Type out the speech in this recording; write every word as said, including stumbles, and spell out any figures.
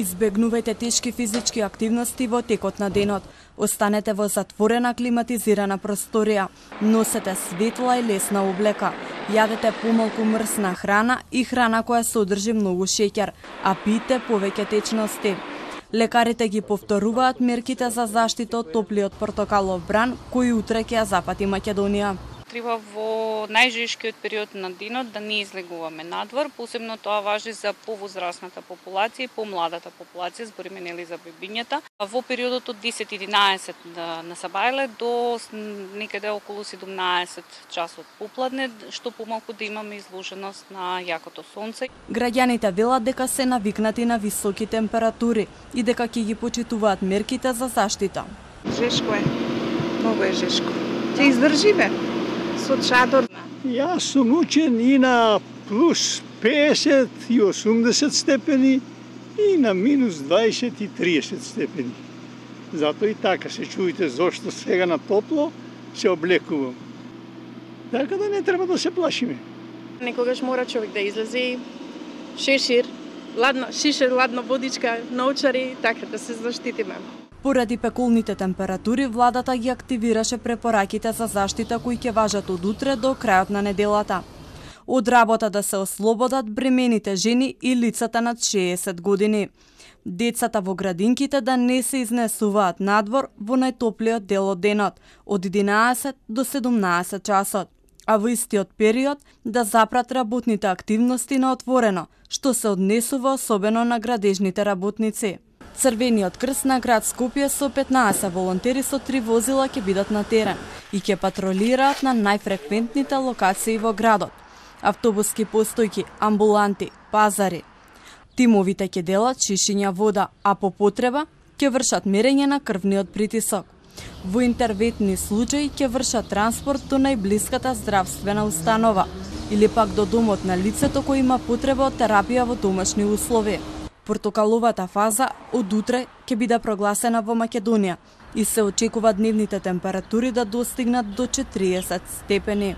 Избегнувајте тешки физички активности во текот на денот. Останете во затворена климатизирана просторија. Носете светла и лесна облека. Јадете помалку мрсна храна и храна која содржи многу шеќер, а пиете повеќе течности. Лекарите ги повторуваат мерките за заштита од топлиот портокалов бран кој утре ќе ја запати Македонија. Треба во најжешкиот период на денот да не излегуваме надвор, посебно тоа важи за повозрасната популација и помладата популација, збориме нели за бебињата. Во периодот од десет до единаесет на сабајле до некаде околу седумнаесет часот попладне, што помалку да имаме изложеност на јакото сонце. Граѓаните велат дека се навикнати на високи температури и дека ќе ги почитуваат мерките за заштита. Жешко е, многу е жешко. Ќе издржиме со чадор. Јас сум учен и на плюс песет и осумдесет степени и на минус дваесет и триесет степени. Зато и така се чуете зошто сега на топло се облекувам. Така да не треба да се плашиме. Некогаш мора човек да излезе, шешир, ладно, шишер, ладна водичка, научари, така да се заштитиме. Поради пекулните температури, владата ги активираше препораките за заштита кои ќе важат од утре до крајот на неделата. Од работа да се ослободат бремените жени и лицата над шеесет години. Децата во градинките да не се изнесуваат надвор во најтоплиот дел од денот, од единаесет до седумнаесет часот, а во истиот период да запрат работните активности на отворено, што се однесува особено на градежните работници. Црвениот крст на град Скопје со петнаесет волонтери со три возила ќе бидат на терен и ќе патролираат на најфреквентните локации во градот. Автобуски постојки, амбуланти, пазари. Тимовите ќе делат шишиња вода, а по потреба ќе вршат мерење на крвниот притисок. Во интервентни случаи ќе вршат транспорт до најблиската здравствена установа или пак до домот на лицето кој има потреба од терапија во домашни услови. Портокаловата фаза од утре ќе биде прогласена во Македонија и се очекува дневните температури да достигнат до четириесет степени.